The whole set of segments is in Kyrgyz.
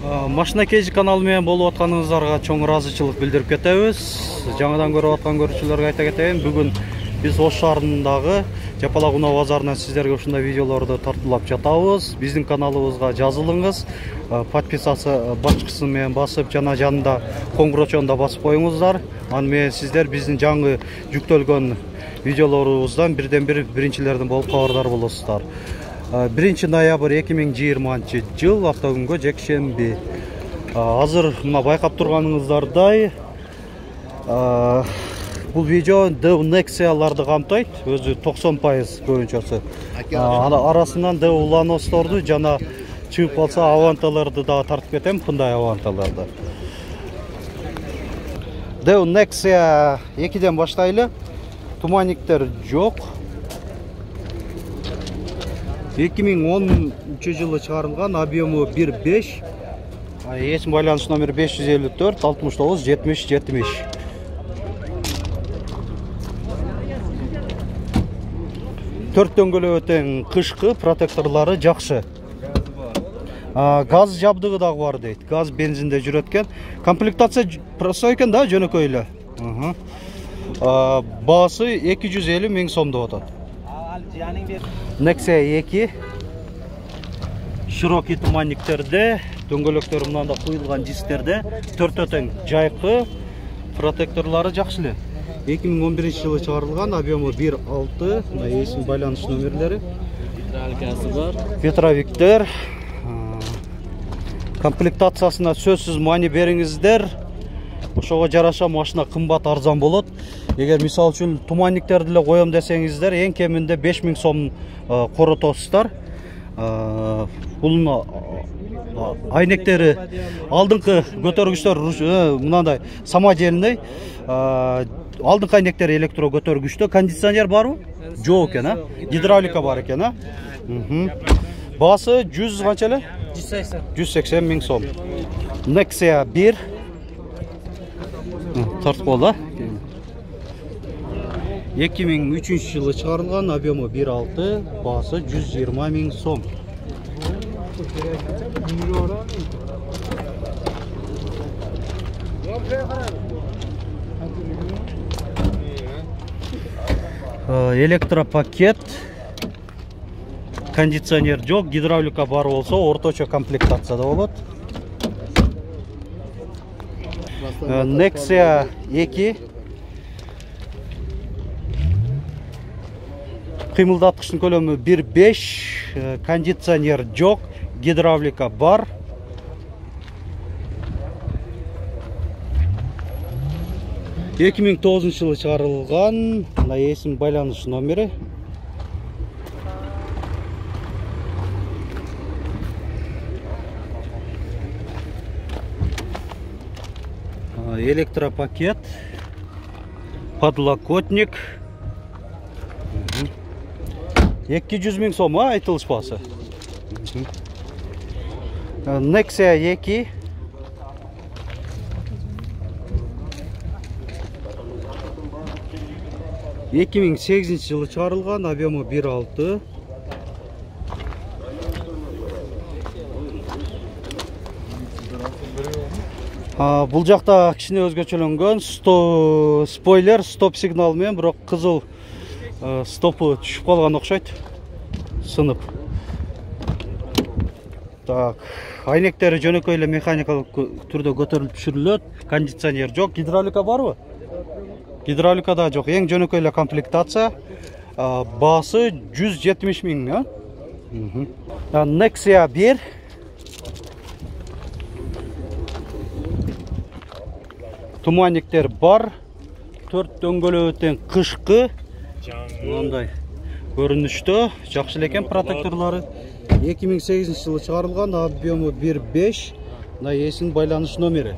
Машина Кейжи каналы менен болуп атканыңыздарга чоң ыраазычылык билдирип кетебиз. Жаңадан көрүп аткан көрүүчүлөргө айта кетейин, бүгүн биз Ош шаарындагы Жапалак унаа базарынан сиздерге ушундай видеолорду тартуулап жатабыз. Биздин каналыбызга жазылыңыз, подписаться башчысын менен басып, жана жанында коңгурочону да басып коюңуздар. Аны менен сиздер биздин жаңы жүктөлгөн видеолорубуздан биринчилерден болуп кабардар болосуздар. 1 ноябрь 2020 жыл автокүнгө жекшемби. Азыр мына байкап турганыңыздардай бул видео Dev Nexia'ларды камтойт, өзү 90% көбүнчөсү. Арасынан Dev Lanos'торду жана чыгып калса Avanta'ларды да тартып кетем, мындай Avanta'ларды. Dev Nexia 2ден баштайлы. Туманниктер жок. 2010 жылы чыгарылган, объему 1.5. Есим байланыш номери 554 69 70 70. Төрт дөңгөлөк өтең кышкы, протекторлары жакшы. Газ жабдыгы дагы бар дейт. Газ бензинде жүрөт экен. Комплектация простой экен да, жөнөкөй эле. Баасы 250 миң сом деп атат. Nexia 2 широкий туманниктерде, дөңгөлөктөрү мындай куюлган дисктерде, төрт өтең жайкы, протекторлары жакшы эле. 2011 жылы чыгарылган, объему 1.6, мына эсим байланыш номерлери. Гидравликасы бар. Ветровиктер. Комплектациясына сөзсүз маани бериңиздер. Ошого жараша машина кымбат арзан болот. Эгер мисал үчүн туманниктерди эле коем десеңиздер, эң кеминде 5000 сом коротосуздар. Бул айнектери алдыңкы көтөргүчтөр мындай самодельный. Алдыңкы айнектери электро көтөргүчтө. Кондиционер барбы? Жок экен, гидравлика бар экен, Баасы 100 канча эле? 180 миң сом. Nexia 1 тартып кол, 2003 жылы чыгарылган, объему 1.6, баасы 120 миң сом. Электропакет, кондиционер жок, гидравлика бар болсо, орточо комплектацияда болот. Nexia 2 кыймылдаткычтын көлөмү 1.5, кондиционер жок, гидравлика бар. — 2009 жылы чыгарылган, мына эсим байланыш номери. Электропакет, подлокотник. 200 миң сом айтылышпасы. Nexia 2 2008 жылы чыгарылган, объему 1.6. Бул жакта кичине өзгөчөлөнгөн, спойлер, стоп сигнал менен, бирок кызыл стопу түшүп калган окшойт, сынып. Так, айнектери жөнөкөй эле механикалык түрдө көтөрүлүп түшүрүлөт. Кондиционер жок, гидравлика барбы? Гидравлика да жок, эң жөнөкөй эле комплектация. Баасы 170 миң, Nexia 1 туманниктер бар, төрт дөңгөлөк өтең кышкы, мындай көрүнүштө, жакшы экен протекторлары. 2008 жылы чыгарылган, объему 1.5, мына эсим байланыш номери.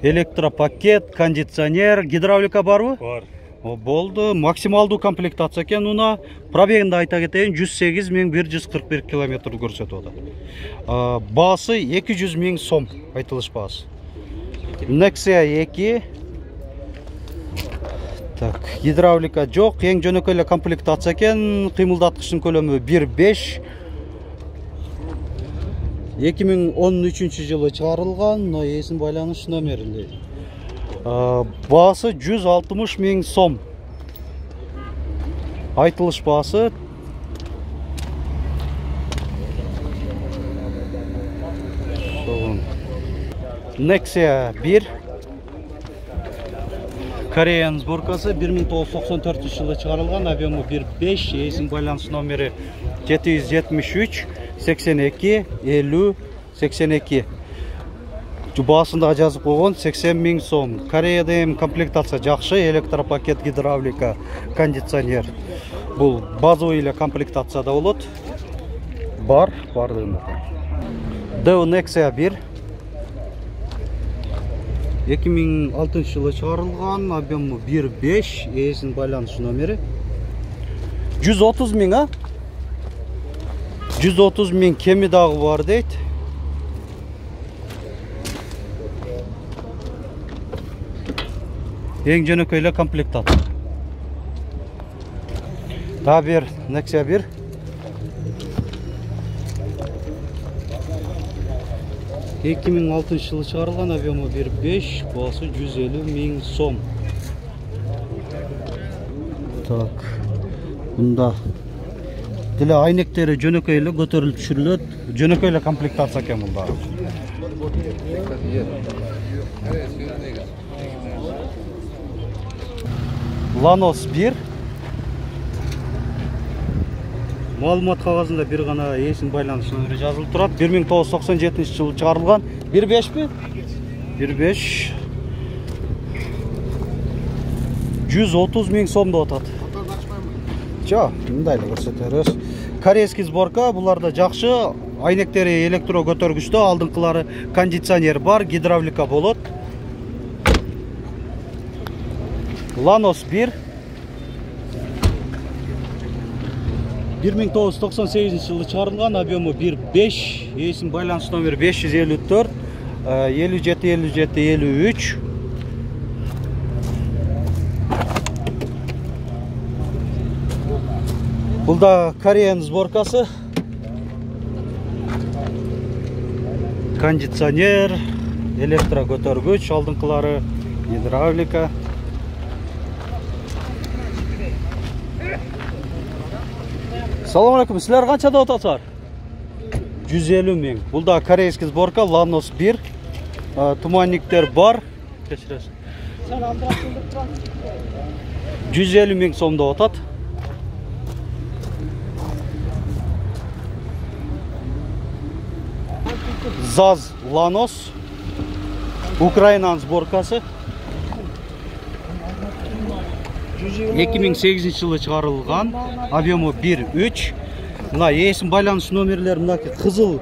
Электропакет, кондиционер, гидравлика барбы? Бар. Болду, максималдуу комплектация экен уна. Пробегинде айта кетейин, 108.141 километр көрсөтүп атат. Баасы 200 миң сом айтылыш баасы. Nexia 2 Так, гидравлика жок, эң жөнөкөй эле комплектация экен. Кыймылдаткычтын көлөмү 1.5. 2013 жылы чыгарылган, мына эсин байланыш номери. Баасы 160 000 сом. Айтылыш баасы. Nexia 1. Кореян сборкасы 1994 жылы чыгарылган, объему 1.5, эсин байланыш номери 773 82 50 82. Баасында жазып койгон 80 000 сом. Кореяда эми комплектация жакшы, электропакет, гидравлика, кондиционер. Бул базовый эле комплектацияда болот. Бардыгында. Deo Nexia 1. 2006 жылы чыгарылган, объему 1.5, эсин байланыш номери 130 000, а? 130 000 кеми дагы бар дейт. Эң жөнөкөй эле комплектация. Дагы бир Nexia 1. Эки миң алтынчы жылы чыгарылган, объему 1.5, баасы 150 000 сом. Так. Бунда деле айнектери жөнөкөй эле көтөрүлүп түшүрүлөт. Жөнөкөй эле комплектация экен бул дагы. Lanos 1. Маалымат кагазында бир гана эсин байланыш номери жазылып турат. 1997 жылы чыгарылган. 1.5 1.5. 130 000 сом деп атат. Жок, мындай эле көрсөтөрүз. Корейский сборка, буларда жакшы. Айнектери электро көтөргүчтө, алдыңкылары кондиционер бар, гидравлика болот. Lanos 1. 1998 жылы чыгарылган, объему 1.5, эсин байланыш номери 554 57 57 53. Бул да Кореян сборкасы. Кондиционер, электро көтөргүч, алдыңкылары гидравлика. Салам алейкум, силер канча деп атасыздар? 150 000. Бул да корейский сборка, Lanos 1. Туманниктер бар. Кечиресиз. 150 000 сом деп атат. ZAZ Lanos. Украинан сборкасы. 2008 жылы чыгарылган, объему 1.3. Мына эсин байланыш номерлери мынакей кызыл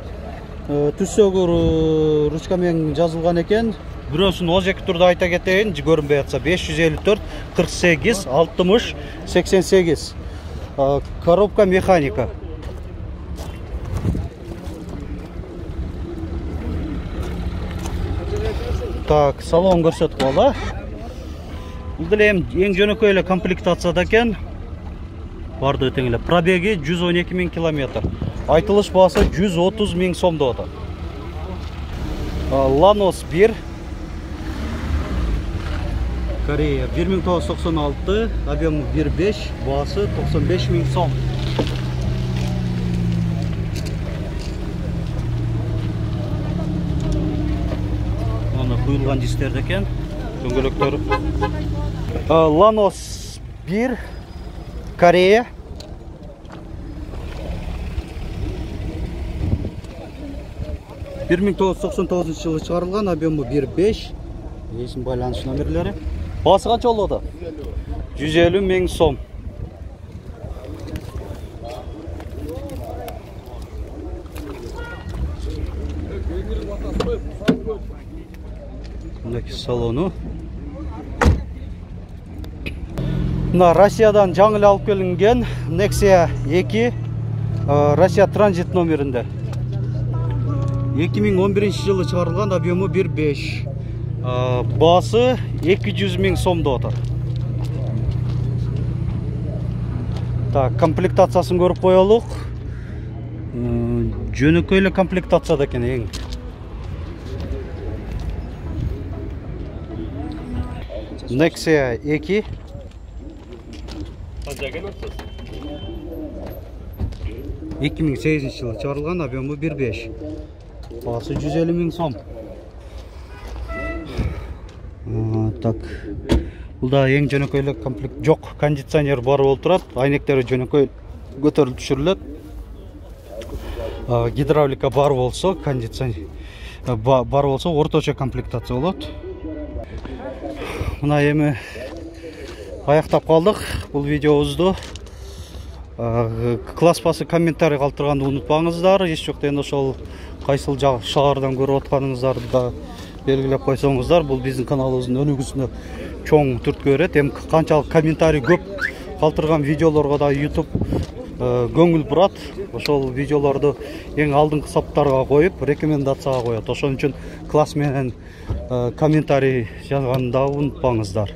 түссөгөр ручка менен жазылган экен. Бирөөсүн озеки турда айта кетейин, көрүнбөй атса 554 48 60 88. Коробка механика. Так, салон көрсөтүп кала. Бул деле эң жөнөкөй эле комплектацияда экен. Барды тең эле. Пробеги 112 000 километр. Айтылыш баасы 130 000 сом деп атат. Lanos 1. Корея 1996, объему 1.5, баасы 95 000 сом. Аны куюлган дистерде экен. Дөңгөлөктөр. Lanos 1, Корея. Bir 1999 жылы чыгарылган, объему 1.5. Эсин байланыш номерлери. Баасы канча болот? 150 000 сом. Мынакей салону. Мына Россиядан жаңы эле алып келинген Nexia 2, Россия транзит номеринде. 2011 жылы чыгарылган, объему 1.5. Баасы 200 000 сом деп атат. Так, комплектациясын көрүп коелук. Жөнөкөй эле комплектацияда экен эң. Nexia 2. Канча экен атсыз? 2008-жылы чыгарылган, объему 1.5. Баасы 150 000 сом. Так. Бул да эң жөнөкөй эле комплект. Жок, кондиционер бар болуп турат. Айнектери жөнөкөй көтөрүлүп түшүрүлөт. Гидравлика бар болсо, кондиционер бар болсо орточо комплектация болот. Мына эми аяктап калдык бул видеобузду. Класс басы комментарий калтырганды унутпаңыздар. Эч жокта эми ошол кайсыл шаардан көрүп атканыңыздарды да белгилеп койсоңуздар. Бул биздин каналыбыздын өнүгүүсүнө чоң түрткү берет. Эми канчалык комментарий көп калтырган видеолорго да YouTube көңүл бурат. Ошол видеолорду эң алдыңкы саптарга коюп, рекомендацияга коет. Ошон үчүн класс менен комментарий жазганды да унутпаңыздар.